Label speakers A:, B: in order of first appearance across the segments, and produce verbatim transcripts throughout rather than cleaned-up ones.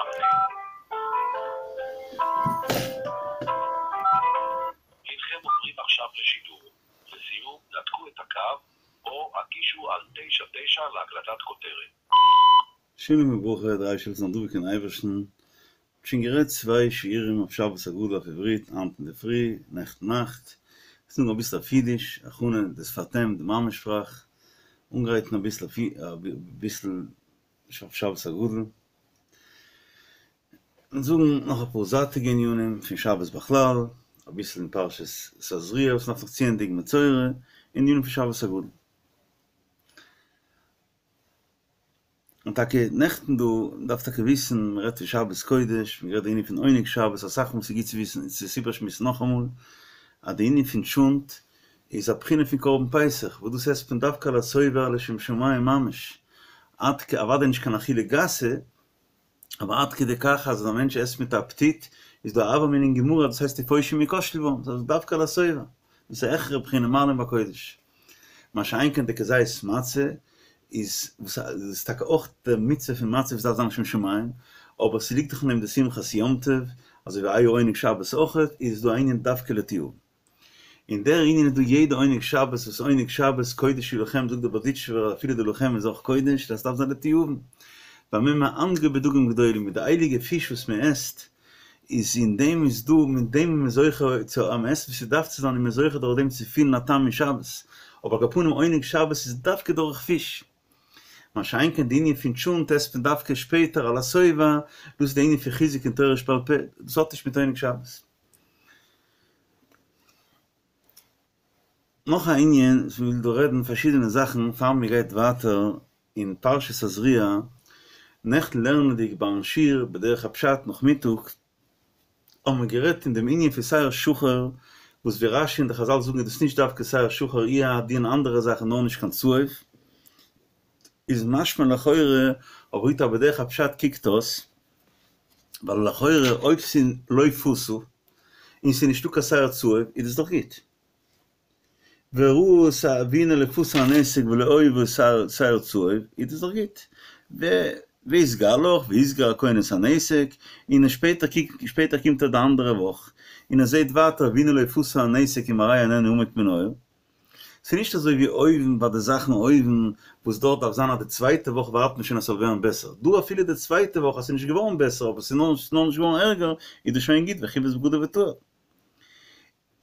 A: הנכם עוברים עכשיו לשידור. לסיום, נתקו את הקו או הקישו על תשע תשע להקלטת כותרת.
B: שלום וברכה, דריי של דוביק אין אייבערשטן. שוין גערעדט צוויי שיעורים אויף שבת הגדול אויף עברית, היינט אינדערפרי, נעכטן נאכט. זאגן אביסל אויף אידיש, הכנה, דאס פארטעמט די מאמע שפראך, אנגרייטן אביסל אביסל אויף שבת הגדול. און זאגן נאך אפאר זייטיגע ענינים פון שבת בכלל, אביסל אין פרשת תזריע וואס מ'דארף נאך צוענדיגן מצורע, און ענינים פון שבת הגדול. און טאקע נעכטן דא, מ'דארף טאקע וויסן, מ'רעדט פון שבת קודש, מ'רעדט די ענין פון עונג שבת, אסאך מאל ס'גוט צו וויסן, צו עס איבערשמועסן נאכאמאל, אז די ענין פון טשולנט איז א בחינה פון קרבן פסח, וואס דאס עסט מען דווקא על השובע לשם שמים ממש, עד כ, אוודאי נישט קיין אכילה גסה, אבער עד כדי כך אז ווען א מענטש עסט מיט אפעטיט, איז דא א הוה אמינא אין גמרא דאס הייסט ופושעים יכשלו בם, דאס איז דווקא על השובע, דאס איז א העכערע בחינה מעלין בקודש. מה שאין כן די כזית מצה איז וואס איז טאקע אויך די מצוה פון מצה וואס דארף זיין לשם שמים, אבער ס'ליגט דאך אין דעם די שמחת יום טוב, אזוי ווי איי עונג שבת אויכעט, איז דא א ענין דווקא לתיאבון. און דער ענין איז דא יעדע עונג שבת וואס עונג שבת קודש הוא לכם זאגט דער בארדיטשובער אז אפילו די לכם איז אויך קודש דאס דארף זיין לתיאבון. במה מענגו בדגים גדולים מיט די הייליגע פיש וואס מען עסט איז אין דעם איז דא מיט דעם איז מען זוכה צו אז מען עסט ווי ס'דארף צו זיין איז מען זוכה דורך דעם צו פילן א טעם אין שבת אבער על כל פנים עונג שבת איז דווקא דורך פיש מה שאין כן די ענין פון טשולנט עסט מען דווקא שפעטער על השובע דאס איז די ענין פון חיזוק אין תורה שבעל פה דאס האט נישט מיט עונג שבת. נאך א ענין וואס מ'וויל דא רעדן פארשידענע זאכן פאר מ'גייט ווייטער אין פרשת תזריע, נעכטן לערנענדיג ביים שיעור בדרך הפשט נאכמיטאג האבן מיר גערעדט אין דעם ענין פון שער שחור, וואס ווי רש"י און די חז"ל זאגן איז דאס נישט דווקא שער שחור אי א דין אנדערע זאכן נאר נישט קיין צהוב, איז משמע לכאורה, אבער אויב בדרך הפשט קוקט אויס, ווייל לכאורה אויב ס'איז לא פסה און ס'איז נישטא קיין שער צהוב איז דאס דאך גוט. וראה שער והנה לא פשה הנתק ולא היה בו שער צהוב איז דאס דאך גוט. והתגלח והסגיר הכהן את הנתק און שפעטער שפעטער קומט ער די אנדערע וואך און ער זעהט ווייטער והנה לא פשה הנתק ומראה איננו עמוק מן העור. ס'איז נישט אזוי ווי אויבן ביי די זאכן אויבן וואס דארט דארף זיין אז די צווייטע וואך ווארט מען שוין אז ס'זאל ווערן בעסער, דא אפילו די צווייטע וואך אז ס'איז נישט געווארן בעסער אבער ס'איז נאר נישט געווארן ערגער איז דאס שוין גוט וכיבס בגדיו וטהר.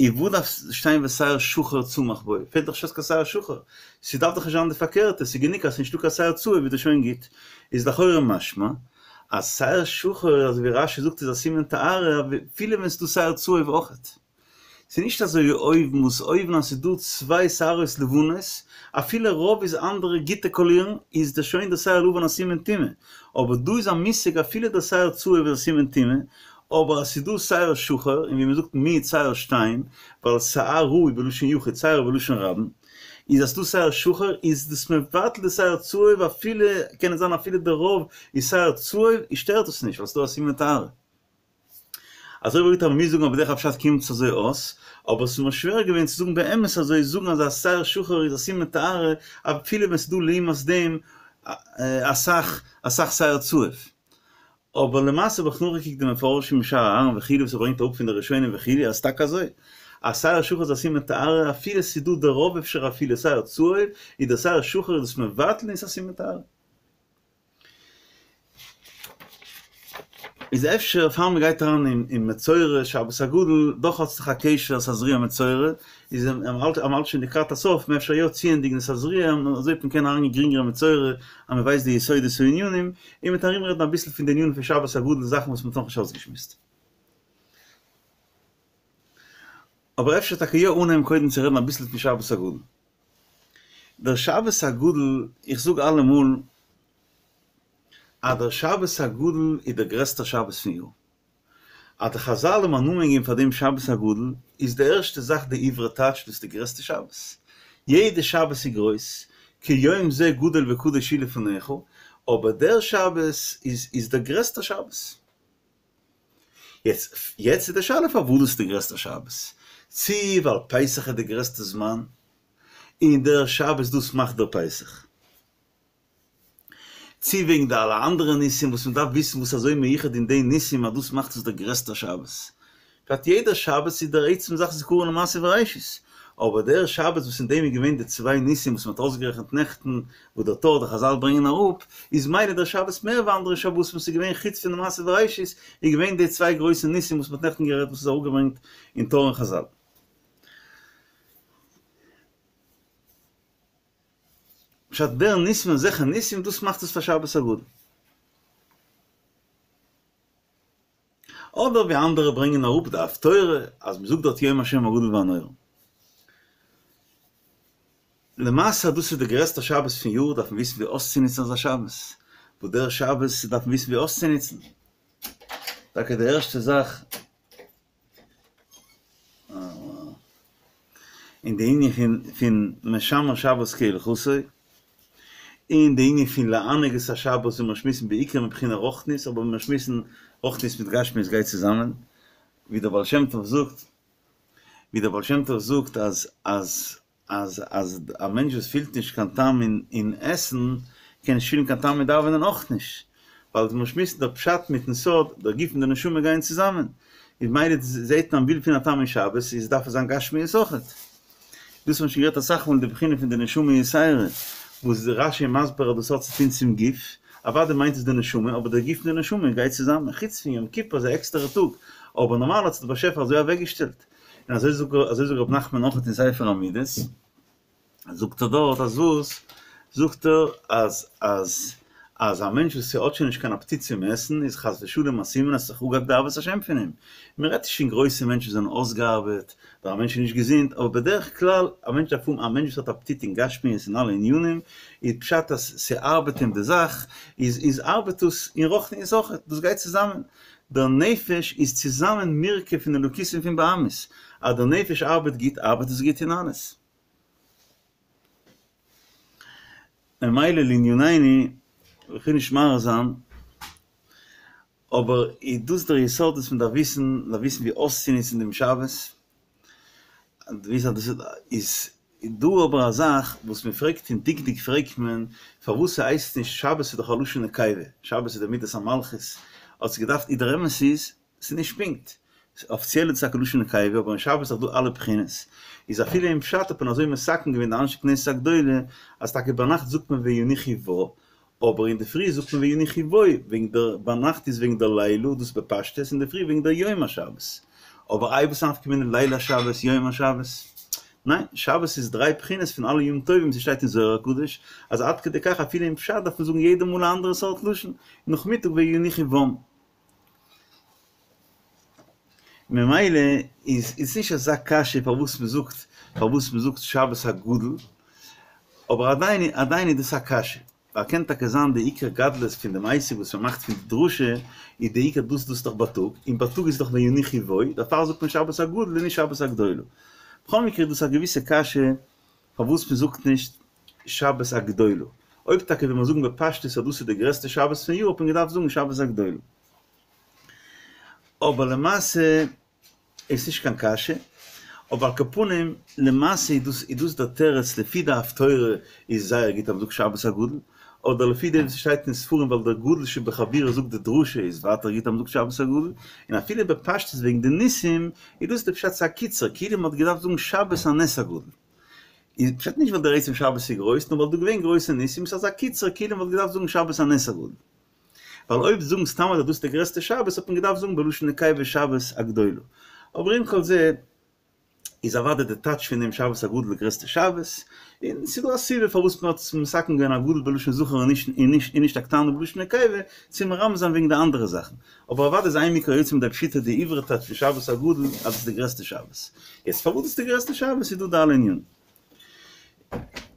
B: און וואו דארף שטיין ושער שחור צמח בו? פעלט דאך נישט אויס קיין שער שחור, ס'דארף דאך נישט זיין די פארקערטע, ס'איז גענוג אז ס'איז נישטא קיין שער צהוב איז דאס שוין גוט. איז לכאורה משמע אז שער שחור אזוי ווי רש"י זאגט איז א סימן טהרה אפילו ווען ס'איז דא שער צהוב אויכעט. ס'איז נישט אזוי ווי אויבן וואס אויבן אז ס'איז דא צוויי שערות לבנות, אפילו רוב איז אנדערע גוטע קאלירן, איז דאס שוין דער שער לבן א סימן טומאה, אבער דא איז א מושג אפילו דער שער צהוב איז א סימן טומאה, אבער אז ס'איז דא שער שחור, און ווי מ'זאגט מיעוט שער שתיים, ווייל שערה איז בלשון יחיד שער איז בלשון רבים, איז אז ס'דא שער שחור איז דאס מבטל די שער צהוב אפילו, קען עס זיין אפילו די רוב איז שער צהוב, איז שטערט עס נישט ווייל ס'איז דא א סימן טהרה. אזוי ווי אויב מ'מוז זאגן אז בדרך הפשט קומט עס אזוי אויס, אבער עס איז מיר שווער געווען צו זאגן באמת אזוי, זאגן אז א שער שחור איז א סימן טהרה אפילו ווען ס'איז דא לעומת דעם אסאך אסאך שער צהוב. אבער למעשה האב איך נאכגעקוקט די מפרשים אין שער אהרן וכו' וואס ער ברענגט אראפ פון די ראשונים וכו' אז טאקע אזוי, א שער שחור איז א סימן טהרה אפילו ס'איז דא די רוב אפשר אפילו שער צהוב, איז דער שער שחור איז דאס מבטל און ס'איז א סימן טהרה. איז אפשר פאר מען גייט אריין אין מצורע שבת הגדול, דאך האט זיך א קשר אז תזריע מצורע, איז מען האלט שוין לקראת הסוף, מען אפשר יא צוענדיגן די תזריע, אזוי וועט מען קענען אריינגיין גרינגער אין מצורע, אז מען ווייסט די יסודות הענינים, און מ'וועט ארומרעדן אביסל פון די ענינים פון שבת הגדול זאכן וואס מען האט נאכנישט אויסגעשמועסט. אבער אפשר טאקע יא אנהייבן קודם צו רעדן אביסל פון שבת הגדול. דער שבת הגדול, איך זאג אלעמאל אז דער שבת הגדול איז דער גרעסטער שבת פון יאר. אז די חזל האבן א נאמען געגעבן פאר דעם שבת הגדול, איז די ערשטע זאך די עברי טייטש דאס איז די גרעסטע שבת. יעדע שבת איז גרויס, כי יום זה גדול וקדוש הוא לפניך, אבער דער שבת איז איז דער גרעסטער שבת. יעצט יעצט איז די שאלה פארוואס דאס איז די גרעסטע שבת, צו ווייל פסח איז די גרעסטע זמן, און דער שבת דאס מאכט דער פסח. צי וועגן די אלע אנדערע ניסים וואס מען דארף וויסן וואס אזוי מיוחד אין די ניסים אז דאס מאכט עס דער גרעסטער שבת. פשט יעדער שבת איז דער עצם זאך זכרון למעשה בראשית, אבער דער שבת וואס אין דעם איז געווען די צוויי ניסים וואס מען האט אויסגערעכנט נעכטן וואס דער טור די חזל ברענגען אראפ, איז מילא דער שבת מער ווי אנדערע שבתים וואס איז געווען חוץ פון די מעשה בראשית איז געווען די צוויי גרויסע ניסים וואס מען האט נעכטן גערעדט וואס איז אראפגעברענגט אין טור און חזל. פשט דער ניסים אזעלכע ניסים דאס מאכט עס פאר שבת הגדול. אדער ווי אנדערע ברענגען אראפ די הפטורה אז מ'זאגט דארט יום השם הגדול והנורא. למעשה דאס איז די גרעסטע שבת פון יאר דארף מען וויסן ווי אויסצונוצן אזא שבת, וואס דער שבת דארף מען וויסן ווי אויסצונוצן. טאקע די ערשטע זאך אין די ענין פון פון משמר שבת כהלכתו, און די ענין פון לענג את השבת ווי מיר שמועסן בעיקר מבחינה רוחנית, אבער מיר שמועסן רוחנית מיט גשמיות גייט צוזאמען, ווי דער בעל שם טוב זאגט, ווי דער בעל שם טוב זאגט אז אז אז אז א מענטש וואס פילט נישט קיין טעם אין אין עסן, קען נישט פילן קיין טעם אין דאווענען אויך נישט, ווייל מיר שמועסן דער פשט מיטן סוד, דער גוף און די נשמה גייען צוזאמען, איז מילא זעהט מען וויל פילן א טעם אין שבת, איז דארף עס זיין גשמיות אויכעט. דאס האט מען שוין גערעדט אסאך מאל די בחינה פון די נשמה יתירה, וואס רש"י איז מסביר אז דאס האט צו טון צום גוף, אוודאי מיינט עס די נשמה, אבער דער גוף און די נשמה גייט צוזאמען, חוץ פון יום כיפור איז א עקסטערע טאג, אבער נארמאל האט זיך דער באשעפער אזוי אוועקגעשטעלט. און אזוי זאגט אזוי זאגט ר' נחמן אויך אין ספר המידות, זאגט ער דארט אז וואס? זאגט ער אז אז אז א מענטש וואס האט שוין נישט קיין אפעטיט צום עסן איז חס ושלום א סימן אז ס'איז זיך אפגעהאקט די אהבת השם פון אים. מען רעדט נישט פון גרויסע מענטשן וואס זענען אויסגעארבעט, אדער א מענטש איז נישט געזונט, אבער בדרך כלל א מענטש דארף האבן, א מענטש וואס האט אפעטיט אין גשמיות און אלע ענינים, איז פשט אז ס'ארבעט אים די זאך, איז איז ארבעט עס אין רוחניות אויך, דאס גייט צוזאמען. דער נפש איז צוזאמען מורכב פון אלוקית און פון בהמית, אז דער נפש ארבעט גוט ארבעט עס גוט אין אלעס. ממילא לענינינו, איך וויל נישט מאריך זיין, אבער איז דאס דער יסוד וואס מען דארף וויסן, מען דארף וויסן ווי אויסצונוצן דעם שבת, וויסן אז דאס איז דא אבער א זאך וואס מען פרעגט אין דקדוק פרעגט מען פארוואס ס'הייסט נישט שבת איז דאך א לשון נקבה, שבת איז די מידת המלכות, האט עס געדארפט איז דער אמת איז ס'איז נישט פונקט, אפיציעל איז עס טאקע לשון נקבה אבער אין שבת איז דאך דא אלע בחינות, איז אפילו אין פשט האט מען אזוי מתקן געווען די אנשי כנסת הגדולה אז טאקע ביינאכט זאגט מען וינוחו בה אבער אינדערפרי זאגט מען וינוחו בו, וועגן דער ביינאכט איז וועגן דער לילה, דאס בפשטות, אינדערפרי וועגן דער יום השבת. אבער איי וואס נפקא מינה ליל השבת, יום השבת? ניין, שבת איז דריי בחינות פון אלע ימים טובים, ס'שטייט אין זוהר הקדוש אז עד כדי כך אפילו אין פשט דארף מען זאגן יעדע מאל א אנדערע סארט לשון, נאכמיטאג וינוחו בם. ממילא איז איז נישט אזא קשיא פארוואס מען זאגט פארוואס מען זאגט שבת הגדול, אבער עדיין עדיין איז דאס א קשיא, ווייל קען טאקע זיין די עיקר גדלות פון דעם עסק וואס מען מאכט פון די דרשה איז די עיקר דאס דאס דאך בייטאג, און בייטאג איז דאך וינוחו בו, דערפאר זאגט מען שבת הגדול און נישט שבת הגדולה. בכל מקרה איז דאס א געוויסע קשיא פארוואס מען זאגט נישט שבת הגדולה, אויב טאקע וויל מען זאגן בפשטות אז דאס איז די גרעסטע שבת פון יאר האט מען געדארפט זאגן שבת הגדולה. אבער למעשה איז נישט קיין קשיא, אבער על כל פנים למעשה איז דאס איז דאס דער תירוץ לפי די הפטורה איז זייער גוט אז מ'זאגט שבת הגדול, אדער לפי דעם וואס ס'שטייט אין ספרים ווייל דער גדול שבחבורה זאגט די דרשה איז ווייטער גוט אז מ'זאגט שבת הגדול, און אפילו בפשטות וועגן די ניסים איז דאס די פשט ס'איז א קיצור כאילו מ'האט געדארפט זאגן שבת הנס הגדול. איז פשט נישט ווייל דער עצם שבת איז גרויס נאר ווייל דא געווען גרויסע ניסים ס'איז אזא קיצור כאילו מ'וואלט געדארפט זאגן שבת הנס הגדול. ווייל אויב זאגן סתם אז דאס איז די גרעסטע שבת האט מען געדארפט זאגן בלשון נקבה שבת הגדולה. אבער עם כל זה איז אוודאי די טייטש פון דעם שבת הגדול די גרעסטע שבת, און ס'איז דא א סיבה פארוואס מען האט עס מתקן געווען הגדול בלשון זכר און נישט און נישט און נישט הקטנה בלשון נקבה, צו מרמז זיין וועגן די אנדערע זאכן. אבער אוודאי איז אין מקרא יוצא מידי פשוטו די עברי טייטש פון שבת הגדול אז עס איז די גרעסטע שבת. יעצט פארוואס דאס איז די גרעסטע שבת איז דא די אלע ענינים.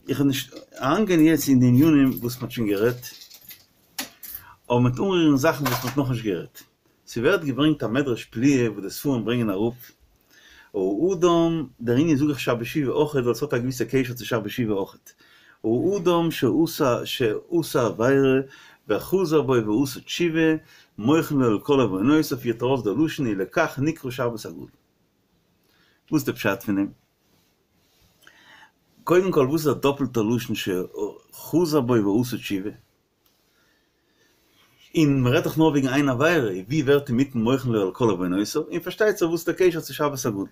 B: איך וועל נישט אריינגיין יעצט אין די ענינים וואס מען האט שוין גערעדט, אבער מ'וועט אנרירן זאכן וואס מ'האט נאכנישט גערעדט. ס'ווערט געברענגט א מדרש פליאה וואס די ספרים ברענגען אראפ, האדם, דער ענין זאג איך שבת שובה אויכעט ווייל ס'האט א געוויסע קשר צו שבת שובה אויכעט, האדם שעשה שעשה עבירה וחזר בו ועשה תשובה, מוחלין לו על כל עוונותיו פירט ארויס דער לשון ולכך נקרא שבת הגדול. וואס איז די פשט פון דעם? קודם כל וואס איז א דאפלטע לשון שחזר בו ועשה תשובה? און מ'רעדט דאך נאר וועגן איין עבירה, ווי ווערט אינמיטן מוחל לו על כל עוונותיו, און פארשטייט זיך וואס איז דער קשר צו שבת הגדול.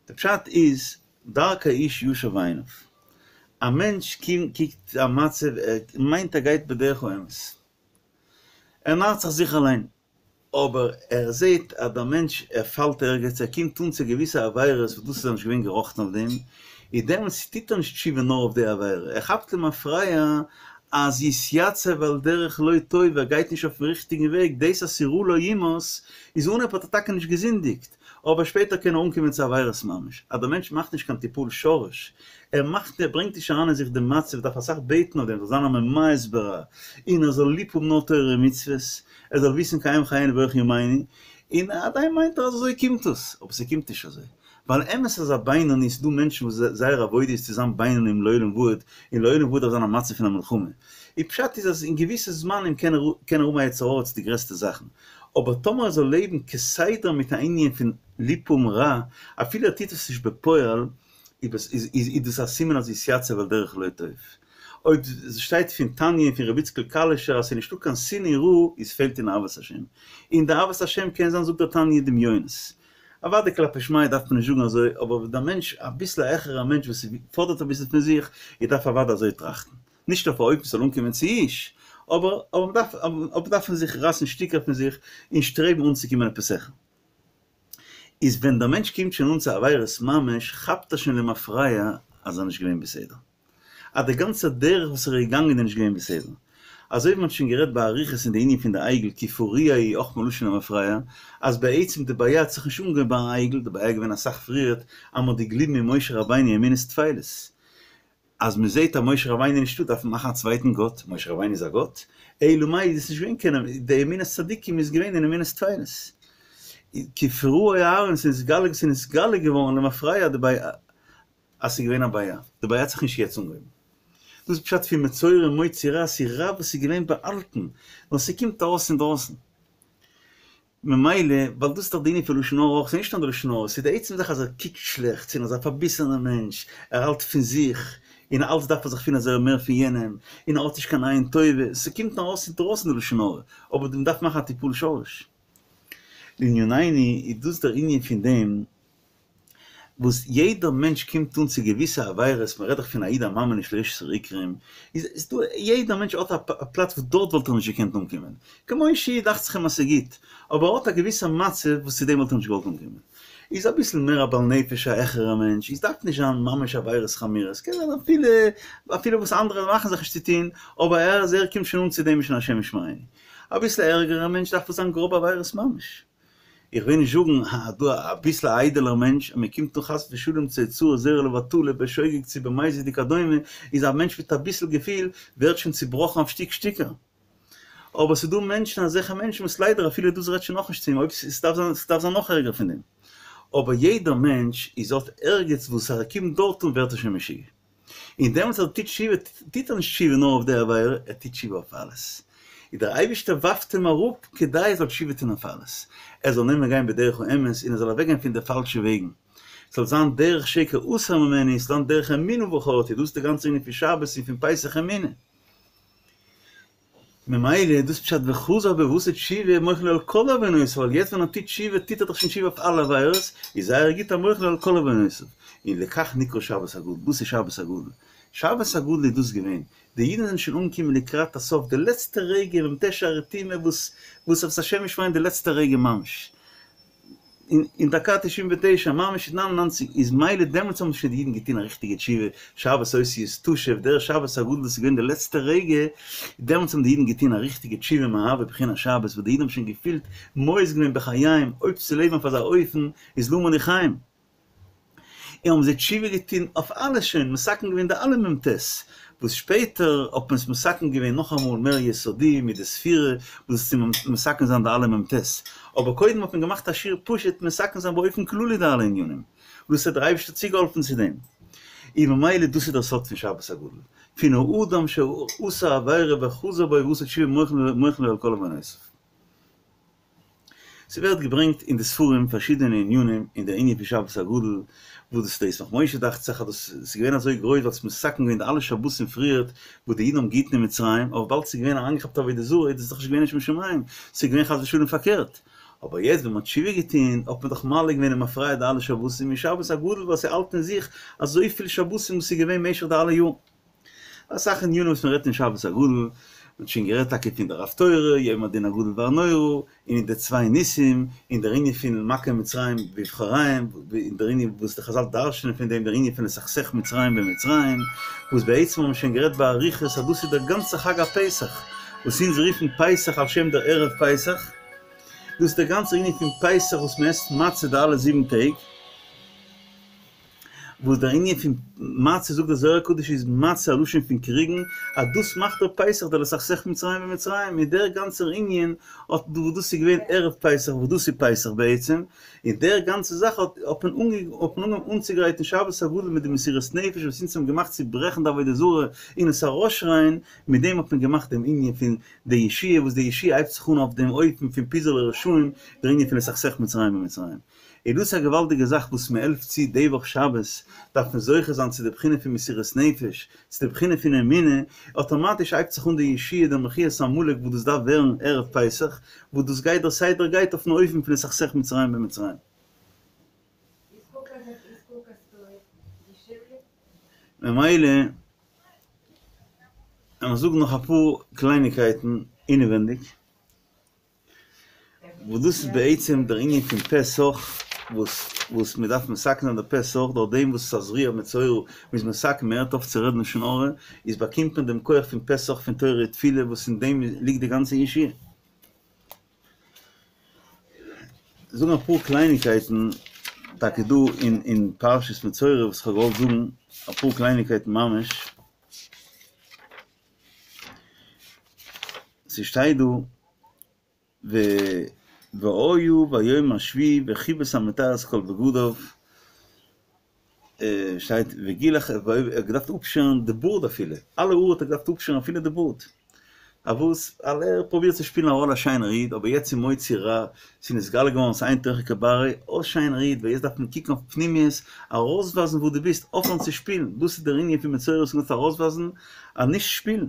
B: די פשט איז, דרכי איש ישר בעיניו. א מענטש קוקט א מצב, ער מיינט ער גייט בדרך האמת. ער נארט זיך זיך אליין. אבער ער זעט אז דער מענטש ער פאלט ערגעץ, ער קומט אן צו געוויסע עבירות וואס דאס איז ער נישט געווען געראכטן אויף דעם, איז דעמאלטס טוט ער נישט תשובה נאר אויף די עבירה, ער כאפט למפרע אז יתייצב על דרך לא טוב, ער גייט נישט אויפן ריכטיגן וועג, דאס אז ס'איז רע לו ימאס, איז אנהייב האט ער טאקע נישט געזינדיגט, אבער שפעטער קען ער אנקומען צו עבירות ממש, אז דער מענטש מאכט נישט קיין טיפול שורש, ער מאכט ער ברענגט נישט אריין אין זיך דעם מצב, דארף אסאך בעטן אויף דעם, זאל זיין א ממאס ברע, און ער זאל ליב האבן נאר תורה ומצוות, ער זאל וויסן כי הם חיינו ואורך ימינו, און עדיין מיינט ער אז אזוי קומט עס, אבער ס'קומט נישט אזוי. ווייל אמת אז א בינוני, ס'דא מענטשן וואס זייער עבודה איז צו זיין בינונים לעולם ועד, און לעולם ועד דארף זיין א מצב פון א מלחמה. און פשט איז אז אין געוויסע זמנים קען ער קען ער האבן א יצר הרע צו די גרעסטע זאכן, אבער טאמער ער זאל לעבן כסדר מיט א ענין פון ליב האבן רע, אפילו ער טוט עס נישט בפועל, איז איז דאס א סימן אז יתייצב על דרך לא טוב. אויב ס'שטייט פון תניא און פון רבי איציקל קאלישער אז ס'איז נישטא קיין שנאה רעה איז פעלט אין אהבת השם. און די אהבת השם קען זיין זאגט דער תניא דמיונות. אוודאי כלפי שמיא דארף מען נישט זאגן אזוי, אבער ווען דער מענטש, אביסל א העכערער מענטש וואס פאדערט אביסל פון זיך, ער דארף אוודאי אזוי טראכטן. נישט אויף א אופן ס'זאל אנקומען צו יאוש, אבער אבער מ'דארף אבער דארף מען זיך רייסן שטיקער פון זיך און שטרעבן אנצוקומען עפעס העכער. איז ווען דער מענטש קומט שוין אן צו עבירות ממש, כאפט ער שוין למפרע אז ער איז נישט געווען בסדר. אז די גאנצע דרך וואס ער איז געגאנגען איז נישט געווען בסדר. אזוי ווי מען האט שוין גערעדט באריכות אין די ענין פון די עגל כי פרוע הוא אויך מלשון למפרע, אז בעצם די בעיה האט זיך נישט אנגעהויבן ביים עגל, די בעיה איז געווען אסאך פריערט אז מען האט געגליבן אין משה רבינו אמונות טפלות. אז מען זעט אז משה רבינו איז נישטא דארף מען מאכן א צווייטן גאט, משה רבינו איז א גאט? אלא מאי איז עס נישט געווען קיין, די אמונת צדיקים איז געווען אין אמונות טפלות. כי פרוע אהרן ס'איז נתגלה ס'איז נתגלה געווארן למפרע די בעיה אז ס'איז געווען א בעיה, די בעיה האט זיך נישט יעצט אנגעהויבן. דאס איז פשט פון מצורע מוציא רע, ס'איז רע וואס איז געווען באהאלטן, נאר ס'קומט ארויס אינדרויסן. ממילא, ווייל דאס איז דאך די ענין פון לשון הרע אויך, ס'איז נישט נאר די לשון הרע, ס'איז די עצם זאך אז ער קוקט שלעכטס און אזא פארביסענער מענטש, ער האלט פון זיך, און אלץ דארף ער זיך פילן אז ער איז מער פון יענעם, און ער האט נישט קיין עין טובה, ס'קומט נאר ארויס אינדרויסן די לשון הרע, אבער מ'דארף מאכן א טיפול שורש. לענינינו איז דאס דער ענין פון דעם וואס יעדער מענטש קומט אן צו געוויסע עבירות, מען רעדט דאך פון א איד א מאמין נישט לרשעות העיקרים, איז איז דא יעדער מענטש האט א פלאץ וואס דארט וואלט ער נישט געקענט אנקומען, כמו שהיא דאכט זיך אים אז ס'איז גוט, אבער ער האט א געוויסע מצב וואס צו דעם וואלט ער נישט געוואלט אנקומען, איז אביסל מער א בעל נפש א העכערע מענטש, איז דארף נישט זיין ממש עבירות חמורות, קען זיין אפילו אפילו וואס אנדערע מאכן זיך נישט צו טון, אבער ער אז ער קומט שוין אן צו דעם איז שוין השם ישמרינו. אביסל ערגערע מענטש דארף עס זיין גראבע עבירות ממש. איך וויל נישט זאגן אז דא אביסל א איידעלער מענטש, אז מען קומט אן חס ושלום צו הוצאת זרע לבטלה בשוגג צו במזיד וכדומה, איז א מענטש מיט אביסל געפיל ווערט שוין צובראכן אויף שטיק שטיקער. אבער ס'איז דא מענטשן אזעלכע מענטשן וואס ליידער אפילו דאס רעדט שוין נאכנישט צו אים, אויב ס'דארף זיין ס'דארף זיין נאך ערגער פון דעם. אבער יעדער מענטש איז האט ערגעץ וואס אז ער קומט דארט אן ווערט ער שוין משוגע. און דעמאלטס אז ער טוט תשובה, טוט ער נישט תשובה נאר אויף די עבירה, ער טוט תשובה אויף אלעס. און דער אייבערשטער ווארפט אים אראפ כדי ער זאל תשובה טון אויף אלעס. ער זאל נעמען גיין בדרך האמת און ער זאל אוועקגיין פון די פאלשע וועגן. ס'זאל זיין דרך שקר אסור ממני, ס'זאל זיין דרך אמונה בחרתי, דאס איז די גאנצע ענין פון שבת און פון פסח אמונה. ממילא איז דאס פשט וחזר בו ועשה תשובה מוחל לו על כל עוונותיו, ווייל יעצט ווען ער טוט תשובה טוט ער דאך שוין תשובה אויף אלע עבירות, איז זייער גוט אז מוחל לו על כל עוונותיו. און לכך נקרא שבת הגדול, דאס איז שבת הגדול. שבת הגדול איז דאס געווען, די אידן זענען שוין אנגעקומען לקראת הסוף, די לעצטע רגע, מ"ט שערי טומאה וואס וואס השם ישמרינו די לעצטע רגע ממש. אין דקה תשעים ותשע, ממש נײַן און נײַנציק, איז מילא דעמאלטס האבן שוין די אידן געטון א ריכטיגע תשובה, שבת אותיות תשב, דער שבת הגדול דאס איז געווען די לעצטע רגע, דעמאלטס האבן די אידן געטון א ריכטיגע תשובה מאהבה בחינת שבת, וואס די אידן האבן שוין געפילט מואס געווען בחייהם, אויב צו לעבן אויף אזא אופן איז למה לי חיים. און האבן זיי תשובה געטון אויף אלעס שוין מתקן געווען די אלע מ"ט, וואס שפעטער האט מען עס מתקן געווען נאכאמאל מער יסודי מיט די ספירה וואס צו מתקן זיין די אלע מ"ט, אבער קודם האט מען געמאכט א שיעור פשוט מתקן זיין באופן כללי די אלע ענינים, וואס האט דער אייבערשטער צוגעהאלפן צו דעם, און ממילא דאס איז דער סוד פון שבת הגדול, פון האדם שעשה עבירה וחזר בו ועשה תשובה מוחלין לו על כל עוונותיו. ס'ווערט געברענגט אין די ספרים פארשידענע ענינים אין דער ענין פון שבת הגדול, וואס דאס דער ישמח משה דאכט זיך אז דאס איז געווען אזוי גרויס ווייל ס'איז מתקן געווען די אלע שבתים פריערט וואס די אידן האבן געהיטן אין מצרים, אבער וויבאלד ס'איז געווען אריינגעכאפט עבודה זרה איז דאס דאך נישט געווען לשם שמים, ס'איז געווען חס ושלום פארקערט. אבער יעצט ווען מ'האט תשובה געטון האט מען דאך מעלה געווען און מפריע די אלע שבתים און שבת הגדול ווייל ס'האלט אין זיך אזויפיל שבתים וואס איז געווען משך די אלע יארן. אסאך ענינים וואס מ'רעדט אין שבת הגדול, מ'האט שוין גערעדט טאקע פון דער הפטורה, יום הדין הגדול והנורא, און אין די צוויי ניסים, און דער ענין פון מכה מצרים בבכוריהם, און דער ענין וואס די חזל דרש'נען פון דעם, דער ענין פון לסכסך מצרים במצרים, וואס בעצם האבן מיר שוין גערעדט באריכות אז דאס איז דער גאנצער חג הפסח, וואס אונז רופן פסח על שם דער ערב פסח, דאס איז דער גאנצער ענין פון פסח וואס מ'עסט מצה די אלע זיבן טעג. וואס דער ענין פון מצה זאגט דער זוהר הקדוש איז מצה א לשון פון קריגן, אז דאס מאכט דער פסח דער לסכסך מצרים במצרים, און דער גאנצער ענין האט וואס דאס איז געווען ערב פסח וואס דאס איז פסח בעצם, און דער גאנצע זאך האט האט מען האט מען אנגעהויבן אנצוגרייטן שבת הגדול מיט די מסירות נפש וואס אונז האבן געמאכט צו ברעכן די עבודה זרה און עס ארויסשרייען, מיט דעם האט מען געמאכט דעם ענין פון די ישועה וואס די ישועה הייבט זיך אן אויף דעם אופן פון פיזור לרשעים, דער ענין פון לסכסך מצרים במצרים. איז דאס א געוואלדיגע זאך וואס מען העלפט צו די וואך שבת, דארף מען זוכה זיין צו די בחינה פון מסירות נפש, צו די בחינה פון אמונה, אטאמאטיש הייבט זיך אן די ישועה די מחיית עמלק וואס דאס דארף ווערן ערב פסח, וואס דאס גייט דער סדר גייט אויפן אופן פון לסכסך מצרים במצרים. ממילא לאמיר זאגן נאך אפאר קלייניקייטן אינעווענדיג. וואס דאס איז בעצם דער ענין פון פה סח, וואס וואס מען דארף מתקן זיין די פה סח, דורך דעם וואס תזריע מצורע מ'איז מתקן מען הערט אויף צו רעדן לשון הרע, איז באקומט מען דעם כח פון פה סח פון תורה ותפילה וואס אין דעם ליגט די גאנצע ישועה. זאגן אפאר קלייניקייטן טאקע דא אין אין פרשת מצורע וואס כ'האב געוואלט זאגן אפאר קלייניקייטן ממש, ס'שטייט דא ו והיה ביום השביעי וכיבס המטהר את כל בגדיו, שטייט וגילח, ער האט געדארפט אפשערן די בארד אפילו, אלע האר האט ער געדארפט אפשערן אפילו די בארד, פארוואס? ווייל ער פרובירט צו שפילן א ראלע א שיינער איד, אבער יעצט איז מוציא רע, ס'איז נתגלה געווארן ס'אין תוכו כברו, אויס שיינער איד, ווייל יעצט דארף מען קוקן אויף פנימיות, ארויסווייזן וואו דו ביסט, אויפהערן צו שפילן, דאס איז דער ענין פון מצורע וואס מ'דארף ארויסווייזן אז נישט שפילן,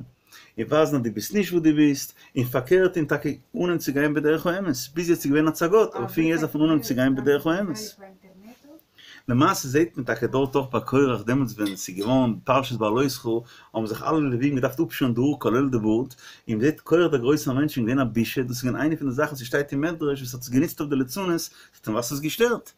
B: און ווייזן אז דו ביסט נישט וואו דו ביסט, און פארקערט און טאקע אנהייבן צו גיין בדרך האמת, ביז יעצט איז געווען הצגות, אבער פון יעצט דארף מען אנהייבן צו גיין בדרך האמת. למעשה זעהט מען טאקע דארט אויך ביי קורח דעמאלטס ווען ס'איז געווארן פרשת בהעלותך האבן זיך אלע לווים געדארפט אפשערן די האר כולל די בארד, און מ'זעהט קורח דער גרויסער מענטש איז געווען א בושה, דאס איז געווען איינע פון די זאכן וואס ס'שטייט אין מדרש וואס האט עס גענוצט אויף די ליצנות, ס'האט אים וואס עס געשטערט.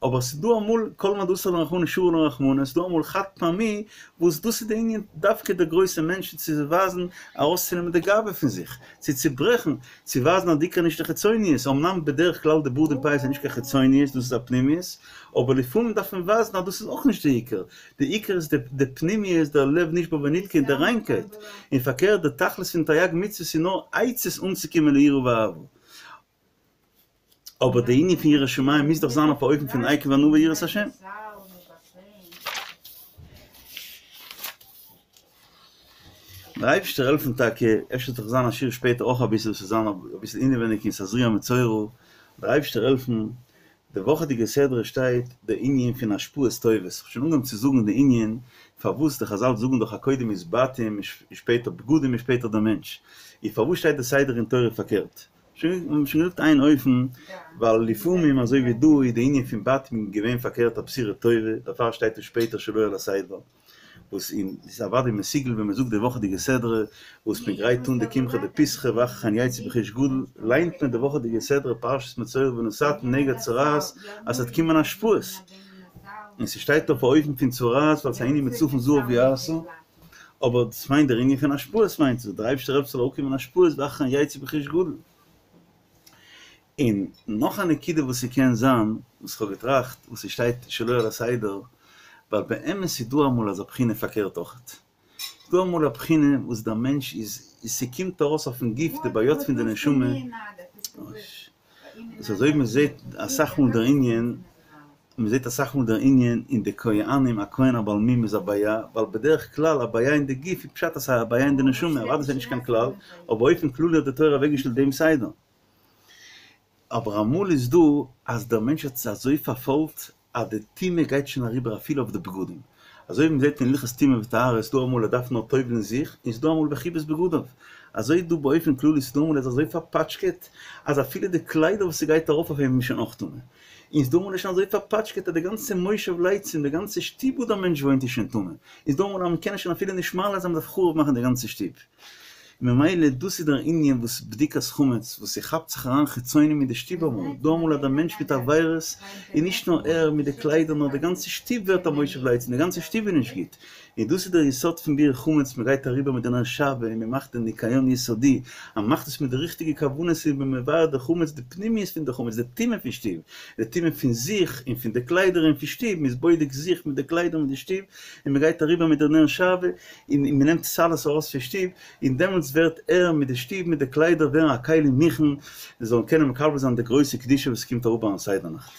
B: אבער ס'איז דא אמאל כל מה דאסר לרחמנא שרי ליה רחמנא, ס'איז דא אמאל חד פעמי וואס דאס איז די ענין דווקא די גרויסע מענטשן צו ווייזן ארויסצונעמען די גאווה פון זיך, צו צוברעכן, צו ווייזן אז די עיקר נישט די חיצוניות, אמנם בדרך כלל די בארד און פאות איז נישט קיין חיצוניות דאס איז א פנימיות, אבער לפעמים דארף מען ווייזן אז דאס איז אויך נישט די עיקר, די עיקר איז די פנימיות, דער לב נשבר ונדכה און די ריינקייט, און פארקערט די תכלית פון תרי"ג מצוות איז נאר עצות אנצוקומען ליראה ואהבה. אבער די ענין פון יראת שמים מוז דאך זיין אויף א אופן פון עקב ענווה יראת השם. דער אייבערשטער העלפן טאקע, אפשר וועט דאך זיין א שיעור שפעטער אויך אביסל וואס וועט זיין אביסל אינעווייניג אין תזריע מצורע, דער אייבערשטער העלפן, די וואכעדיגע סדרה שטייט די ענין פון השפעות טובות, כ'האב שוין אנגעהויבן צו זאגן די ענין פארוואס די חזל זאגן דאך אז קודם איז בתים און שפעטער בגדים און שפעטער די מענטש, און פארוואס שטייט די סדר אין תורה פארקערט? שוין געזאגט איין אופן, ווייל לפעמים אזוי ווי דא איז די ענין פון בתים געווען פארקערט א בשורה טובה, דערפאר שטייט עס שפעטער שלא על הסדר, וואס אין ס'איז אוודאי מסוגל ווען מ'זאגט די וואכעדיגע סדרה וואס מ'גרייט אן די קמחא דפסחא ואחרי כן יצאו ברכוש גדול, ליינט מען די וואכעדיגע סדרה פרשת מצורע ונתתם נגע צרעת אז ס'וועט קומען השפעות, און ס'שטייט אויף א אופן פון צרעת ווייל ס'איז א ענין מצפון זהב יעשו. אבער דאס מיינט דער ענין פון השפעות מיינט עס, דער אייבערשטער העלפט ס'זאל אויפקומען השפעות ואחרי כן יצאו ברכוש גדול. און נאך א נקודה וואס ס'קען זיין, וואס כ'האב געטראכט, וואס ס'שטייט שלא על הסדר, ווייל באמת איז דא אמאל אזא בחינה פארקערט אויכעט. ס'איז דא אמאל א בחינה וואס דער מענטש איז, ס'קומט ארויס אויפן גוף די בעיות פון די נשמה, ס'איז אזוי ווי מ'זעט אסאך מאל דער ענין, מ'זעט אסאך מאל דער ענין אין די כהנים, א כהן א בעל מום איז א בעיה, ווייל בדרך כלל א בעיה אין די גוף איז פשט אז ס'איז א בעיה אין די נשמה, אוודאי ס'איז נישט קיין כלל, אבער באופן כללי האט די תורה אוועקגעשטעלט דעם סדר. אבער אמאל איז דא אז דער מענטש האט זיך אזוי פארפוילט אז די טומאה גייט שוין אריבער אפילו אויף די בגדים. אזוי ווי מ'זעט אין הלכות טומאה וטהרה איז דא אמאל ער דארף נאר טובל'ן זיך, און ס'איז דא אמאל וכיבס בגדיו. אזוי דא באופן כללי ס'איז דא אמאל ער איז אזוי פארפאטשקעט אז אפילו די קליידער וואס ס'גייט ארויף אויף אים איז שוין אויך טמא. און ס'איז דא אמאל ער איז שוין אזוי פארפאטשקעט אז די גאנצע מושב לצים, די גאנצע שטוב וואו דער מענטש וואוינט איז שוין טמא. איז דא אמאל אז מ'קען שוין אפילו נישט מעלה זיין מ'דארף חרוב מאכן די גאנצע שטוב. ממילא דאס איז דער ענין וואס בדיקת חמץ וואס ס'כאפט זיך אריין חיצונים אין די שטוב אמאל, דא אמאל אז דער מענטש מיט עבירות איז נישט נאר ער מיט די קליידער נאר די גאנצע שטוב ווערט א מושב לצים, די גאנצע שטוב איז נישט גוט, און דאס איז דער יסוד פון ביעור חמץ, מען גייט אריבער מיט די נר שעוה און מען מאכט די ניקיון יסודי, אז מען מאכט עס מיט די ריכטיגע כוונות איז מען מבער די חמץ, די פנימיות פון די חמץ, די טומאה פון שטוב, די טומאה פון זיך און פון די קליידער און פון שטוב, מען איז בודק זיך מיט די קליידער מיט די שטוב, און מען גייט אריבער מיט די נר שעוה און מען נעמט עס אלעס ארויס פון שטוב, און דעמאלטס ווערט ער מיט די שטוב מיט די קליידער ווערן א כלי מוכן, זיי זאלן קענען מקבל זיין די גרויסע קדושה וואס קומט אראפ ביים סדר נאכט.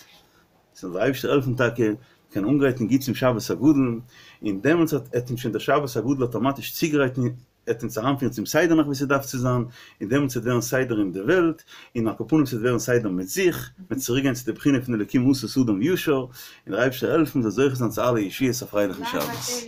B: זאל דער אייבערשטער העלפן טאקע קענען אנגרייטן גוט צום שבת הגדול, און דעמאלטס וועט אים שוין דער שבת הגדול אטאמאטיש צוגרייטן, עט אונז אריינפירן צום סדר נאכט ווי ס'דארף צו זיין, און דעמאלטס וועט ווערן סדר אין די וועלט, און על כל פנים ס'וועט ווערן סדר מיט זיך, מ'וועט צוריק גיין צו די בחינה פון אלקים עשה אדם ישר, און דער אייבערשטער העלפן מ'זאל זוכה זיין צו אלע ישועות א פרייליכן שבת.